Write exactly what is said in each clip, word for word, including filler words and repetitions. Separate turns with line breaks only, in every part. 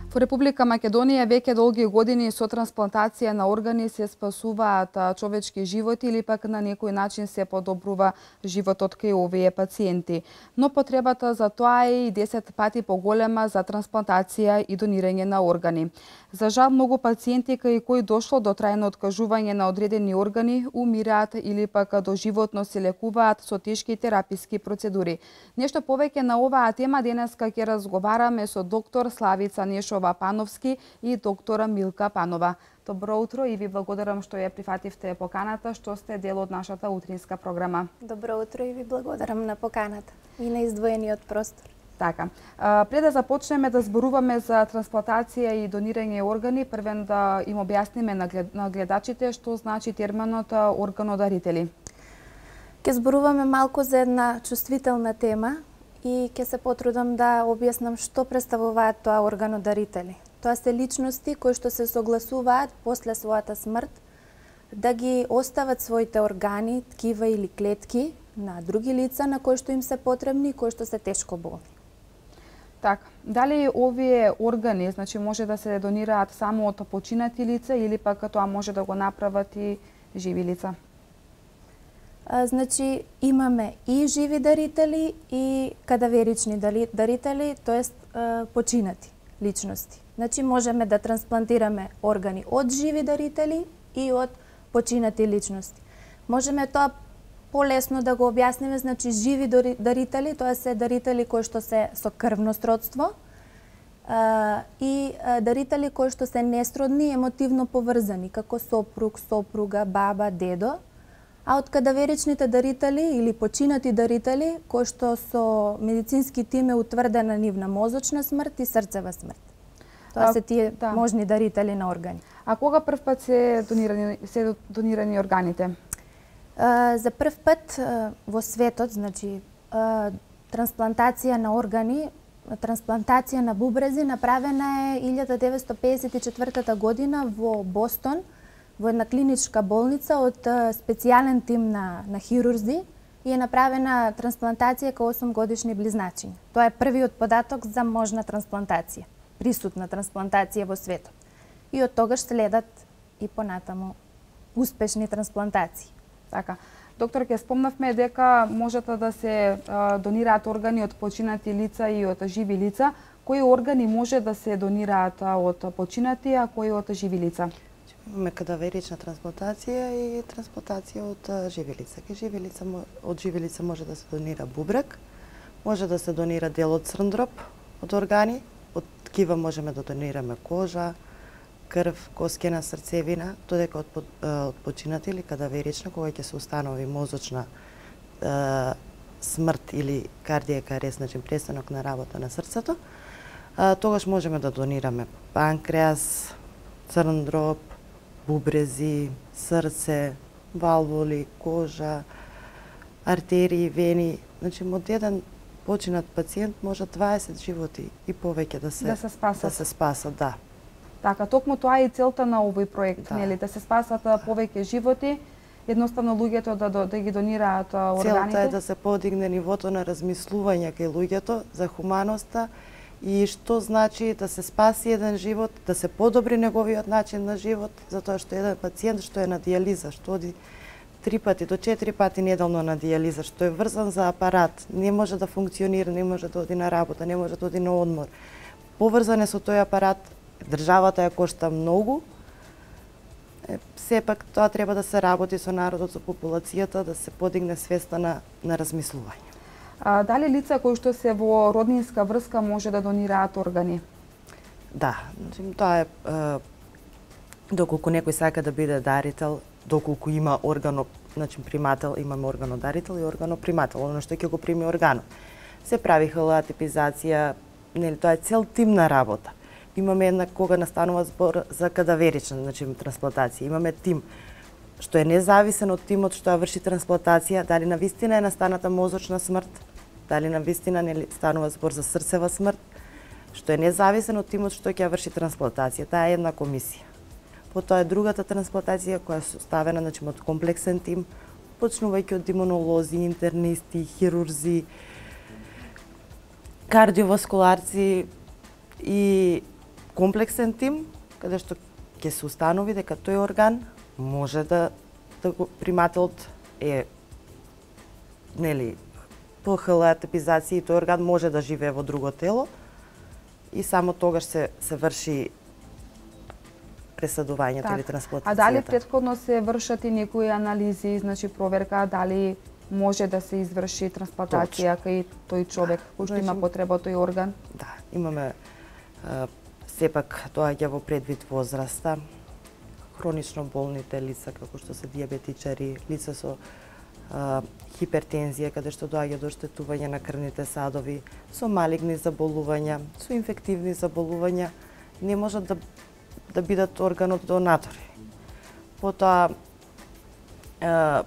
Во Република Македонија веќе долги години со трансплантација на органи се спасуваат човечки животи или пак на некој начин се подобрува животот кај овие пациенти. Но потребата за тоа е и десет пати поголема за трансплантација и донирање на органи. За жал, многу пациенти кај кои дошло до трајно откажување на одредени органи умираат или пак доживотно се лекуваат со тешки тераписки процедури. Нешто повеќе на оваа тема денеска ќе разговараме со доктор Славица Нешова Пановски и доктора Милка Панова. Добро утро и ви благодарам што ја прифативте поканата, што сте дел од нашата утринска програма.
Добро утро и ви благодарам на поканата и на издвоениот простор.
Така, пред да започнеме да зборуваме за трансплантација и донирање органи, првен да им објасниме на гледачите што значи терминот органодарители.
Ке зборуваме малку за една чувствителна тема и ќе се потрудам да објаснам што представуваат тоа органодарители. Тоа се личности кои што се согласуваат после својата смрт да ги остават своите органи, ткива или клетки на други лица на кои што им се потребни и кои што се тешко болни.
Така, дали овие органи, значи може да се донираат само од починати лица или пак тоа може да го направат и живи лица?
А, значи имаме и живи дарители и кадаверични дарители, тоест починати личности. Значи можеме да трансплантираме органи од живи дарители и од починати личности. Можеме тоа полесно да го објасниме, значи живи дарители, тоа се дарители кои што се со крвно сродство а, и а, дарители кои што се несродни, емотивно поврзани, како сопруг, сопруга, баба, дедо. А од кадаверичните дарители или починати дарители, кои што со медицински тим е утврдена нивна мозочна смрт и срцева смрт. Тоа а, се тие да. можни дарители на органи.
А кога прв пат се донирани, се донирани органите?
А, за прв пат а, во светот, значи, а, трансплантација на органи, трансплантација на бубрези направена е илјада деветстотини педесет и четвртата година во Бостон, во една клиничка болница од специјален тим на, на хирурзи и е направена трансплантација кај осум годишни близначиња. Тоа е првиот податок за можна трансплантација, присутна трансплантација во светот. И од тогаш следат и понатаму успешни трансплантации.
Така. Доктор, ќе спомнавме дека можете да се а, донираат органи од починати лица и од живи лица. Кои органи може да се донираат од починати, а кои од живи лица?
Имаме кадаверична трансплантација и трансплантација од живи лица. Кај живи лица, од живи лица може да се донира бубрек, може да се донира дел од црн дроб од органи, од ткива можеме да донираме кожа, крв, коскена срцевина, додека од, од починати или кадаверична, кога ќе се установи мозочна е, смрт или кардијака арест, значи престанок на работа на срцето, е, тогаш можеме да донираме панкреас, црн дроб, бубрези, срце, валвули, кожа, артерии, вени. Значи, од еден починат пациент може дваесет животи и повеќе да се
да се спасат.
Да се спасат, да.
Така, токму тоа е целта на овој проект, да. нели, да се спасат повеќе животи, едноставно луѓето да, да, да ги донираат органите.
Целта е да се подигне нивото на размислување кај луѓето за хуманоста и што значи да се спаси еден живот, да се подобри неговиот начин на живот, затоа што еден пациент што е на дијализа, што оди три пати до четири пати неделно на дијализа, што е врзан за апарат, не може да функционира, не може да оди на работа, не може да оди на одмор. Поврзан е со тој апарат, државата ја кошта многу, сепак тоа треба да се работи со народот, со популацијата, да се подигне свеста на, на размислување.
А, дали лица кои што се во роднинска врска може да донираат органи?
Да, значи тоа е, е доколку некој сака да биде дарител, доколку има органо, значи примател, имаме органодарител и органопримател, оно што ќе го прими органот. Се прави холеатипизација, нели тоа е цел тимна работа. Имаме една кога настанува збор за кадаверична, значи трансплантација. Имаме тим што е независен од тимот што ја врши трансплантација, дали навистина е настаната мозочна смрт, дали навистина не станува збор за срцева смрт, што е независен од тимот што ќе ја врши трансплантација. Таа е една комисија. Потоа е другата трансплантација која е составена, значи од комплексен тим, почнувајќи од имунолози, интернисти, хирурзи, кардиоваскуларци и комплексен тим каде што ќе се установи дека тој орган може да да го примателот е нели по х л атипизација и тој орган може да живее во друго тело и само тогаш се се врши пресадувањето
Так.
или трансплантацијата.
А дали претходно се вршат и некои анализи, значи проверка дали може да се изврши трансплантација кај тој човек кој што има
Значи,
потреба од тој орган?
Да, имаме а, сепак доаѓа во предвид возраста, хронично болните лица како што се дијабетичари, лица со а, хипертензија каде што доаѓа до оштетување на крвните садови, со малигни заболувања, со инфективни заболувања, не можат да да бидат органот донатори. Потоа а,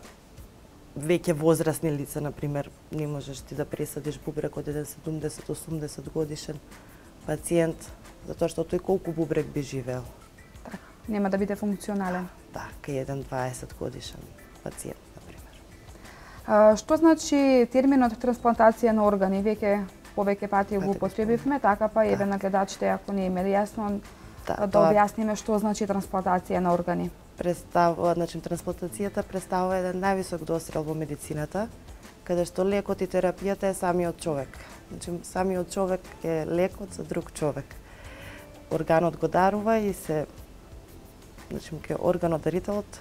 веќе возрастни лица, например, не можеш ти да пресадиш бубрек од еден седумдесет до осумдесет годишен пациент, затоа што тој колку бубрек би живеел.
Така, нема да биде функционален.
Да, кај еден дваесет годишен пациент, например.
А, што значи терминот трансплантација на органи? Веќе повеќе пати го
Пати
употребивме, така па еве
Да.
на гледачите ако не им е јасно
Да,
да
тоа
објасниме што значи трансплантација на органи.
представува, значи трансплантацијата представува еден највисок дострел во медицината, каде што лекот и терапијата е самиот човек. Значи самиот човек е лекот за друг човек. Органот го дарува и се значи ке органот дарителот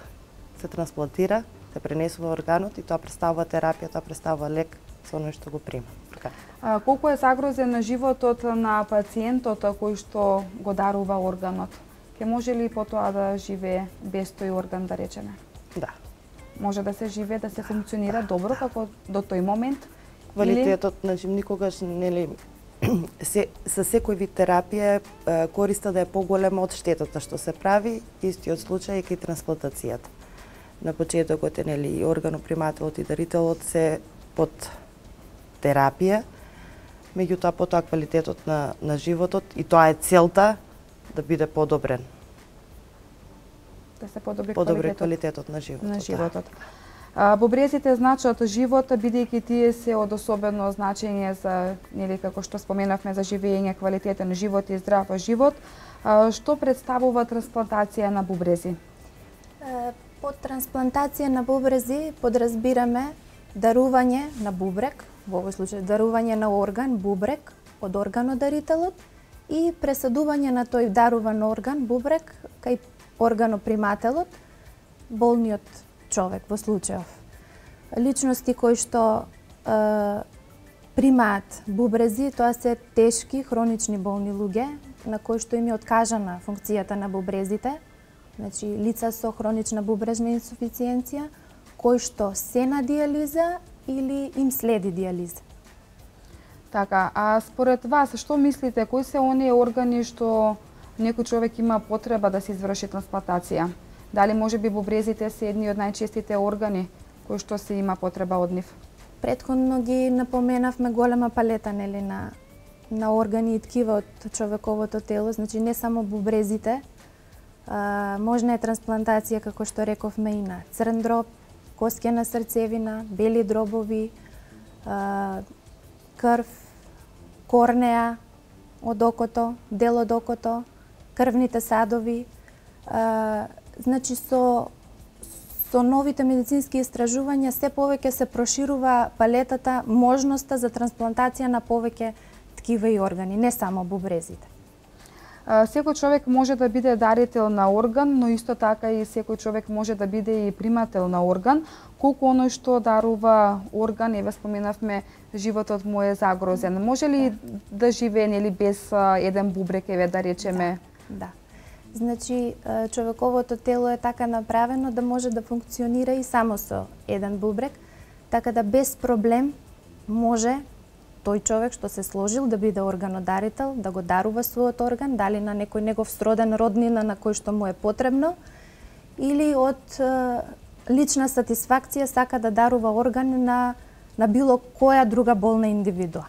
се трансплантира, се пренесува органот и тоа представува терапија, тоа представува лек за оној што го прима. Така.
А, колку е загрозен на животот на пациентот кој што го дарува органот? Ке може ли потоа да живее без тој орган, да речеме?
Да.
Може да се живее, да се функционира добро како до тој момент?
Квалитетот, значи никогаш нели се со секој вид терапија е, користа да е поголема од штетата што се прави, истиот случај и кај трансплантацијата. На почетокот е нели и органопримателот и дарителот се под терапија, меѓутоа потоа квалитетот на на животот и тоа е целта да биде подобрен.
Да се подобри,
Подобри
квалитетот
квалитетот на животот.
на
да.
животот. А, бубрезите значат живот, бидејќи тие се од особено значење за, нели како што споменавме, за живење, квалитетен живот и здрав живот. А, што представува трансплантација на бубрези?
Е, Под трансплантација на бубрези подразбираме дарување на бубрек, во овој случај дарување на орган, бубрек, од органодарителот и пресадување на тој даруван орган, бубрек, кај органопримателот, болниот човек во случајов. Личности кои што е, примаат бубрези, тоа се тешки, хронични болни луѓе, на кои што им е откажана функцијата на бубрезите, значи лица со хронична бубрежна инсуфициенција, кои што се на дијализа или им следи дијализа.
Така, а според вас, што мислите, кои се оние органи што некој човек има потреба да се изврши трансплантација? Дали може би бубрезите се едни од најчестите органи кои што се има потреба од нив?
Претходно ги напоменавме голема палета нели на на органи и ткива од човековото тело, значи не само бубрезите. А, можна е трансплантација, како што рековме, и на црн дроб, коскена срцевина, бели дробови, а, крв, корнеа од окото, дел од окото, крвните садови. А, значи со со новите медицински истражувања се повеќе се проширува палетата, можноста за трансплантација на повеќе ткива и органи, не само бубрезите.
А, секој човек може да биде дарител на орган, но исто така и секој човек може да биде и примател на орган. Колку оној што дарува орган, еве споменавме, животот му е загрозен. Може ли да живее нели без а, еден бубрек, еве да речеме?
Да. да. Значи, човековото тело е така направено да може да функционира и само со еден бубрек, така да без проблем може тој човек што се сложил да биде органодарител, да го дарува својот орган, дали на некој негов сроден роднина на кој што му е потребно, или од е, лична сатисфакција сака да дарува орган на, на било која друга болна индивидуа.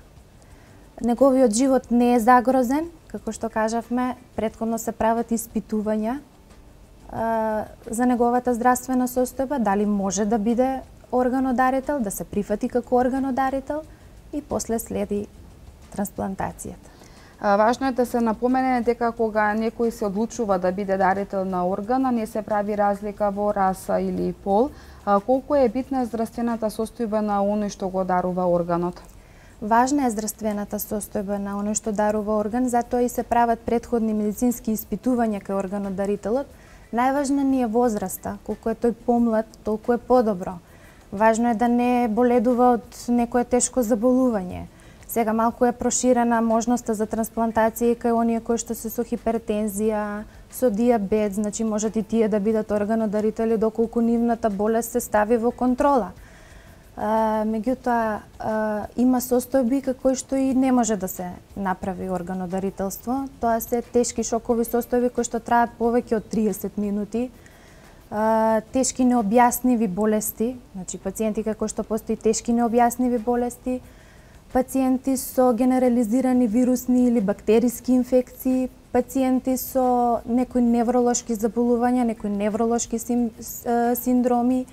Неговиот живот не е загрозен, како што кажавме, претходно се прават испитувања а, за неговата здравствена состојба, дали може да биде органодарител, да се прифати како органодарител и после следи трансплантацијата.
Важно е да се напомене дека кога некој се одлучува да биде дарител на орган, не се прави разлика во раса или пол. Колку е битна здравствената состојба на оној што го дарува органот?
Важна е здравствената состојба на оној што дарува орган, затоа и се прават претходни медицински испитувања кај органодарителот. Најважна ни е возраста, колку е тој помлад, толку е подобро. Важно е да не боледува од некое тешко заболување. Сега малку е проширена можноста за трансплантација кај оние кои што се со хипертензија, со диабет, значи можат и тие да бидат органодарители доколку нивната болест се стави во контрола. А, меѓутоа, а, има состојби кои што и не може да се направи органодарителство. Тоа се тешки шокови состојби кои што траат повеќе од триесет минути, а, тешки необјасниви болести, значи пациенти кои што постои тешки необјасниви болести, пациенти со генерализирани вирусни или бактериски инфекции, пациенти со некои невролошки заболувања, некои невролошки сим, синдроми,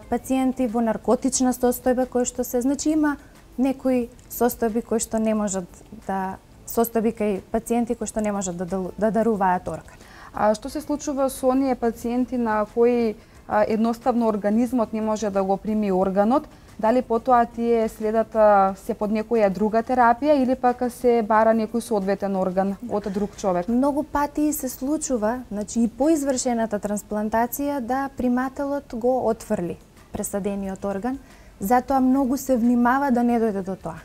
пациенти во наркотична состојба кои што се, значи има некои состојби кои што не можат да состојби кај пациенти кои што не можат да, да даруваат орган.
А што се случува со оние пациенти на кои а, едноставно организмот не може да го прими органот? Дали потоа тие следат се под некоја друга терапија или пак се бара некој соодветен орган од друг човек?
Многу пати се случува, значи и по извршената трансплантација да примателот го отфрли пресадениот орган, затоа многу се внимава да не дојде до тоа.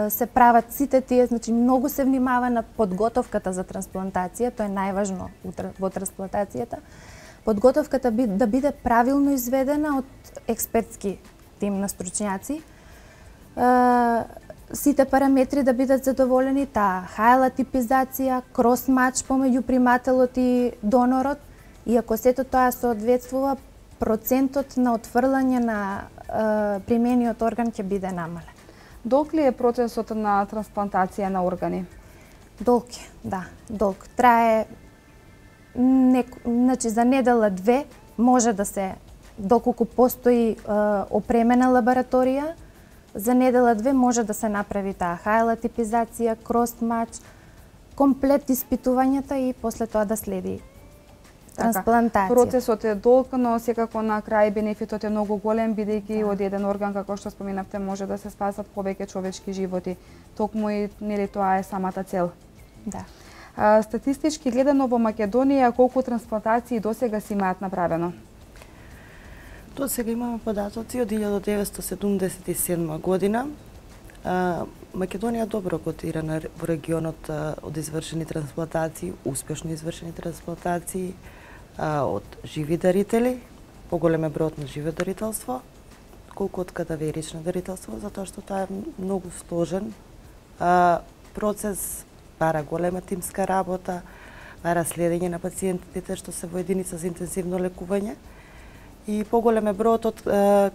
Се прават сите тие, значи многу се внимава на подготовката за трансплантација, тоа е најважно во трансплантацијата. Подготовката да биде правилно изведена од експертски тим на стручњаци, сите параметри да бидат задоволени, таа хајла типизација, крос-мач помеѓу примателот и донорот, и ако сето тоа соодветствува, процентот на отфрлање на е, примениот орган ќе биде намален.
Долг ли е процесот на трансплантација на органи?
Долг е, да, долг. Трае, нек... значи за недела две може да се, доколку постои е, опремена лабораторија, за недела две може да се направи таа хајла типизација, крос-мач, комплет испитувањата и после тоа да следи трансплантација.
Процесот е долг, но секако на крај бенефитот е многу голем, бидејќи од еден орган, како што споменавте, може да се спасат повеќе човечки животи. Токму и нели тоа е самата цел.
Да.
А, статистички гледано во Македонија, колку трансплантации досега си имаат направено?
До сега имаме податоци од илјада деветстотини седумдесет и седма година. А, Македонија добро котирана во регионот а, од извршени трансплантации, успешно извршени трансплантации а, од живи дарители, поголем е бројот на живо дарителство, колку од кадаверично дарителство, затоа што тоа е многу сложен а, процес, бара голема тимска работа, бара следење на пациентите што се во единица за интензивно лекување и поголем е бројот од е,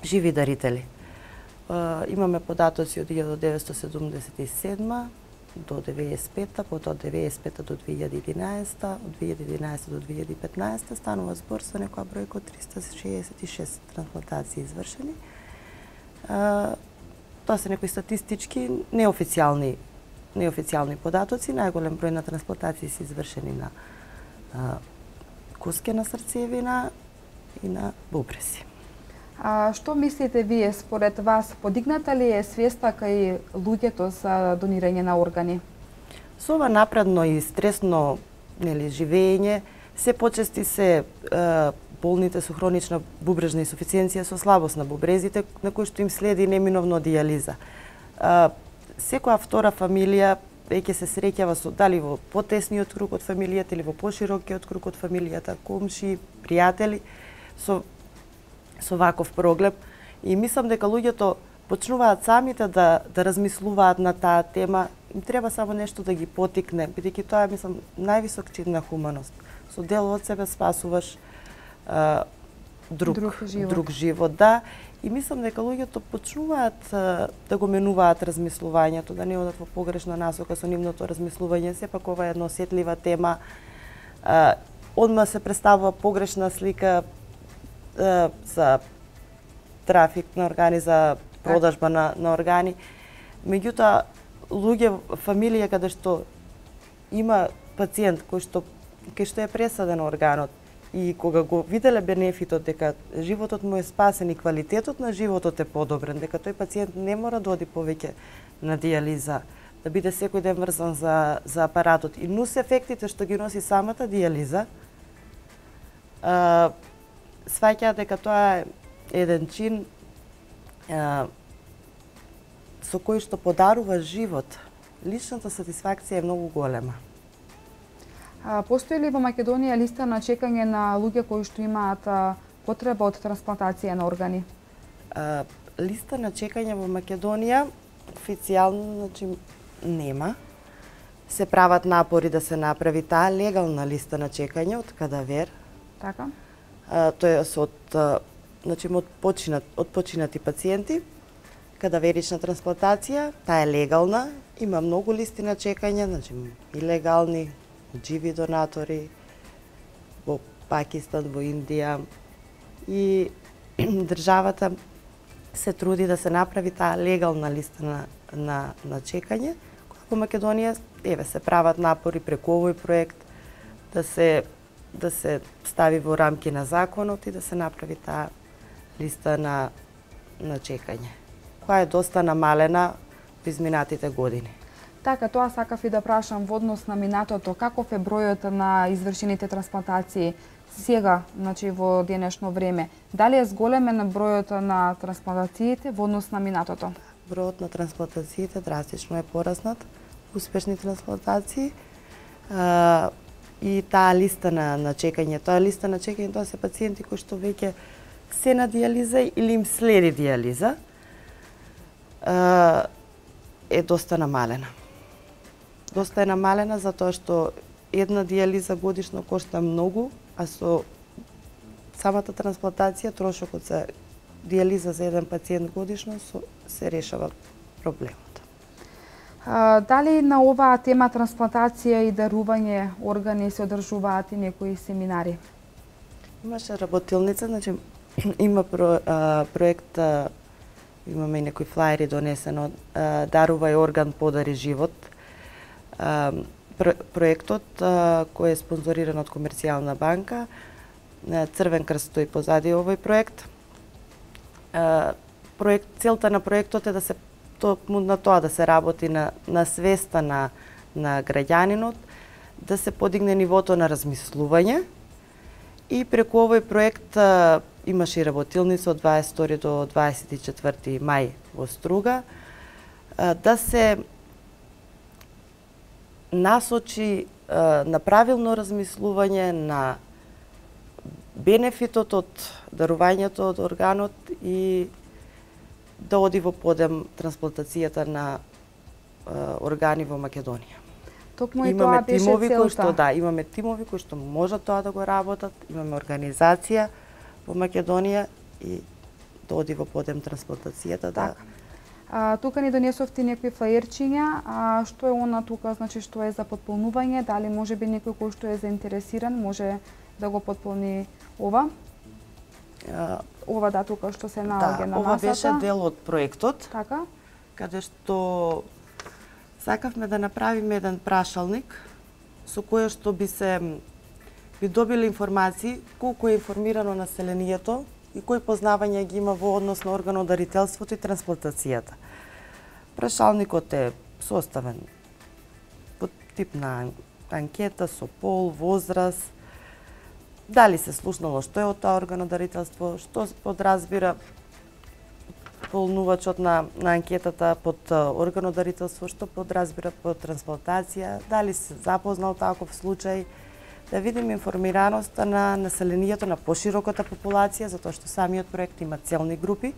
живи дарители. Е, имаме податоци од илјада деветстотини седумдесет и седма до деветдесет и пета, потоа од деветдесет и пета до две илјади и единаесета, од две илјади и единаесета до две илјади и петнаесета станува збор со некоја бројка од триста шеесет и шест трансплантации извршени. Е, тоа се некои статистички неофицијални неофицијални податоци. Најголем број на трансплантации се извршени на е, коскена срцевина и на бубреси.
А што мислите вие, според вас, подигната ли е свеста кај луѓето за донирање на органи?
Со ова напредно и стресно нели живење, се почести се е, болните со хронична бубрежна инсуфициенција со слабост на бубрезите, на кои што им следи неминовно дијализа. Е, секоја втора фамилија веќе се среќава со дали во потесниот круг од фамилијата или во поширокиот круг од фамилијата, комши, пријатели, со, со ваков проблем. И мислам дека луѓето почнуваат самите да, да размислуваат на таа тема. Им треба само нешто да ги потикне, бидејќи тоа е, мислам, највисок чин на хуманост. Со дел од себе спасуваш а, друг,
друг живот.
друг живот, да. И мислам дека луѓето почнуваат а, да го менуваат размислувањето, да не одат во погрешна насока со нивното размислување. Сепак ова е една осетлива тема. А, одма се представува погрешна слика а, за трафик на органи, за продажба на, на органи. Меѓутоа, луѓе, фамилија каде што има пациент кој што кај што е пресаден органот и кога го виделе бенефитот дека животот му е спасен и квалитетот на животот е подобрен, дека тој пациент не мора да оди повеќе на дијализа, да биде секој ден врзан за, за апаратот и нус ефектите што ги носи самата дијализа, сваќаат дека тоа е еден чин а, со кој што подарува живот. Личната сатисфакција е многу голема.
А, постои ли во Македонија листа на чекање на луѓе кои што имаат а, потреба од трансплантација на органи?
А, листа на чекање во Македонија официјално, значи, нема. Се прават напори да се направи таа легална листа на чекање од кадавер.
Така?
А, тоа е од, значи, од, починат, од починати пациенти, кадаверична трансплантација, таа е легална, има многу листи на чекање, значи и легални, живи донатори во Пакистан, во Индија и државата се труди да се направи таа легална листа на, на, на чекање. Во Македонија еве се прават напори преку овој проект да се да се стави во рамки на законот и да се направи таа листа на на чекање, која е доста намалена во изминатите години.
Така, тоа сакав и да прашам во однос на минатото, каков е бројот на извршените трансплантации сега, значи во денешно време? Дали е зголемен бројот на трансплантациите во однос на минатото?
Бројот на трансплантациите драстично е пораснат, успешни трансплантации. А, и таа листа на, на чекање, тоа листа на чекање, тоа се пациенти кои што веќе се на дијализа или им следи дијализа, а, е доста намалена. Доста е намалена затоа што една дијализа годишно кошта многу, а со самата трансплантација трошокот за дијализа за еден пациент годишно се решава проблемот.
А, дали на оваа тема трансплантација и дарување органи се одржуваат и некои семинари?
Имаше работилница, значи има про, а, проект, а, имаме и некои флаери донесено, а, дарувај орган, подари живот. А, про, проектот а, кој е спонзориран од Комерцијална банка, Црвен крст стои позади овој проект. А, проект целта на проектот е да се токму на тоа да се работи на, на свеста на, на граѓанинот, да се подигне нивото на размислување и преку овој проект а, имаше и работилница од дваесет и втори до дваесет и четврти мај во Струга, а, да се насочи а, на правилно размислување на бенефитот од дарувањето од органот и да оди во подем трансплантацијата на а, органи во Македонија.
Токму и
имаме
тоа беше
тимови
целта.
кои што да, имаме тимови кои што можат тоа да го работат, имаме организација во Македонија и да оди во подем трансплантацијата да.
А, тука ни донесовте некои флаерчиња, а што е она тука, значи што е за потполнување, дали може би некој кој што е заинтересиран може да го потполни ова?
А,
Ова да тука што се наоѓа
да,
на
ова
масата.
беше дел од проектот,
Така?
каде што сакавме да направиме еден прашалник со кој што би се би добиле информации колку е информирано населението и кои познавања ги има во однос на органодарителството и трансплантацијата. Прашалникот е составен по тип на анкета со пол, возраст, дали се слушнало што е од тоа органодарителство, што подразбира полнувачот на, на анкетата под органодарителство, што подразбира под трансплантација, дали се запознал таков случај, да видиме информираноста на населението, на пошироката популација, затоа што самиот проект има целни групи,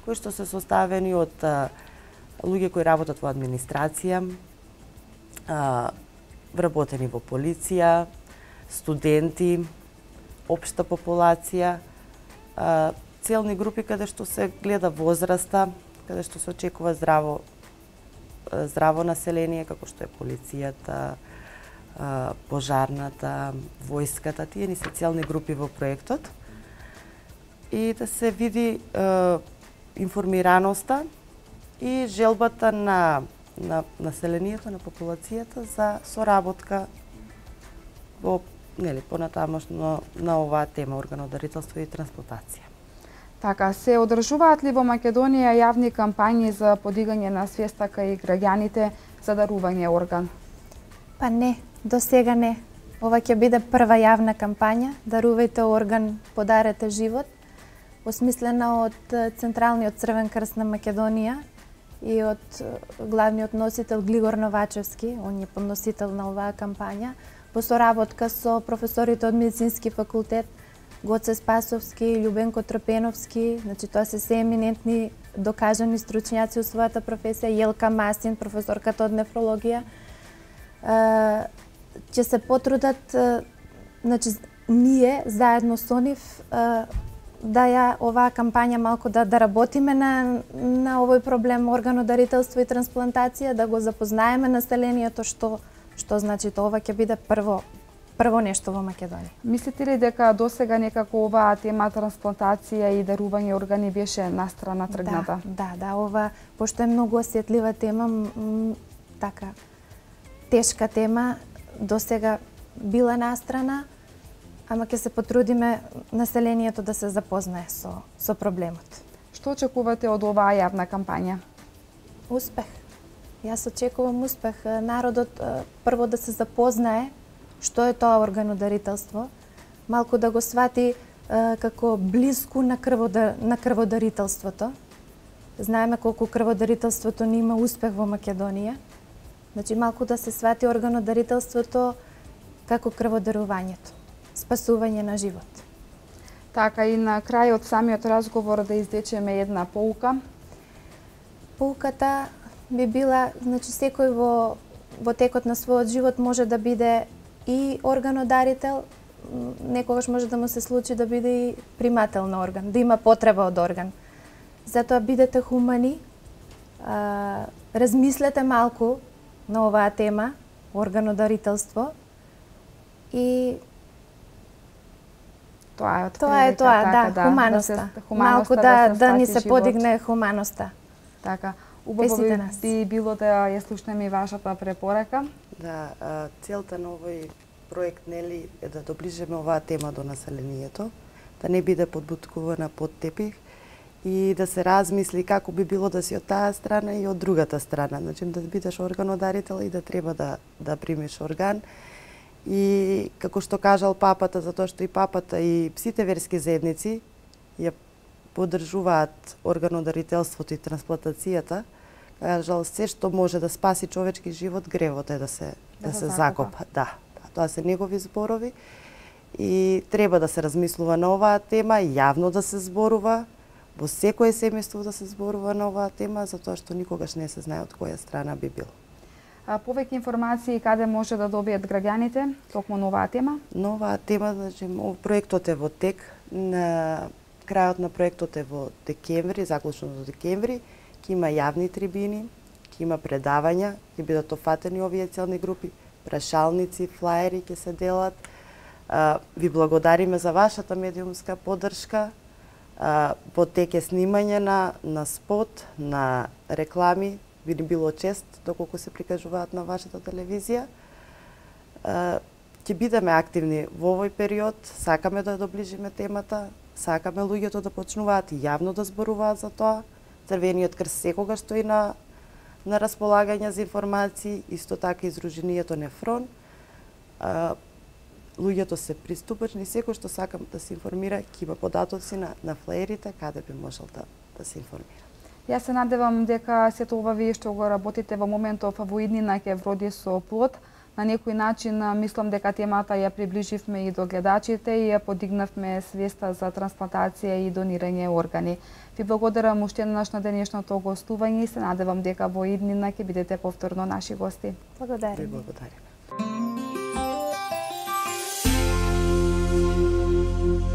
кои што се составени од а, луѓе кои работат во администрација, а, вработени во полиција, студенти, општа популација, а, целни групи каде што се гледа возраста, каде што се очекува здраво здраво население, како што е полицијата, пожарната, војската, тие ни се целни групи во проектот. И да се види е, информираноста и желбата на на населението, на популацијата за соработка во нели понатамошно на оваа тема органодарителство и трансплантација.
Така, се одржуваат ли во Македонија јавни кампањи за подигање на свеста кај граѓаните за дарување орган?
Па не, до сега не. Ова ќе биде прва јавна кампања Дарувајте орган, подарете живот, осмислена од Централниот Црвен крст на Македонија и од главниот носител Глигор Новачевски, он е подносител на оваа кампања, во соработка со професорите од Медицински факултет, Гоце Спасовски, Љубенко Трпеновски, значи тоа се се еминентни докажани стручњаци во својата професија, Јелка Масин, професорката од нефрологија, ќе се потрудат, значи ние заедно со нив да ја оваа кампања малку да да работиме на на овој проблем органодарителство и трансплантација, да го запознаеме населението што што значи тоа. Ова ќе биде прво прво нешто во Македонија.
Мислите ли дека досега некако оваа тема трансплантација и дарување органи беше настрана тргната?
Да, да, да, ова пошто е многу осетлива тема, така тешка тема, досега била настрана, ама ќе се потрудиме населението да се запознае со со проблемот.
Што очекувате од оваа јавна кампања?
Успех. Јас очекувам успех. Народот прво да се запознае што е тоа органодарителство, малку да го свати како блиску на крводар, на крводарителството. Знаеме колку крводарителството не има успех во Македонија. Значи малку да се свати органодарителството како крводарувањето, спасување на живот.
Така, и на крај од самиот разговор да извлечеме една поука.
Поуката би била, значи секој во во текот на својот живот може да биде и органодарител, некогаш може да му се случи да биде и примател на орган, да има потреба од орган. Затоа бидете хумани, а, размислете малку на оваа тема, органодарителство, и
тоа е од
тоа е тоа, така, да, хуманоста. Да се, хуманоста. Малку да, да, да ни се живот. Подигне хуманоста.
Така, убаво би, би било да ја слушнеме и вашата препорака.
Да, целта на овој проект нели е да доближиме оваа тема до населението, да не биде подбуткувана под тепих и да се размисли како би било да си од таа страна и од другата страна. Значи да бидеш органодарител и да треба да да примиш орган. И како што кажал папата, затоа што и папата и сите верски заедници ја поддржуваат органодарителството и трансплантацијата, кажал се што може да спаси човечки живот, гревот е да се да, да се закопа. Да, тоа се негови зборови и треба да се размислува на оваа тема, јавно да се зборува, во секое семејство да се зборува на оваа тема, затоа што никогаш не се знае од која страна би бил.
А повеќе информации каде може да добијат граѓаните токму на оваа тема?
На оваа тема, значи, проектот е во тек, на крајот на проектот е во декември, заклучно до декември, ќе има јавни трибини, ќе има предавања, ќе бидат офатени овие целни групи, прашалници, флаери ќе се делат. Ви благодариме за вашата медиумска поддршка. Во тек е снимање на, на спот, на реклами, би ни било чест доколку се прикажуваат на вашата телевизија. Ќе бидеме активни во овој период, сакаме да доближиме темата, сакаме луѓето да почнуваат и јавно да зборуваат за тоа. Црвениот крст секогаш стои на на располагање за информации, исто така и Здруженијето Нефрон. Луѓето се приступачни, секој што сака да се информира, ќе има податоци на, на флеерите, каде би можел да, да се информира.
Јас се надевам дека сето ова вие што го работите во моментов во иднина ќе вроди со плод. На некој начин мислам дека темата ја приближивме и до гледачите и ја подигнавме свеста за трансплантација и донирање органи. Ви благодарам уште еднаш на денешното гостување и се надевам дека во иднина ќе бидете повторно наши гости.
Благодарам.
Ви благодарам.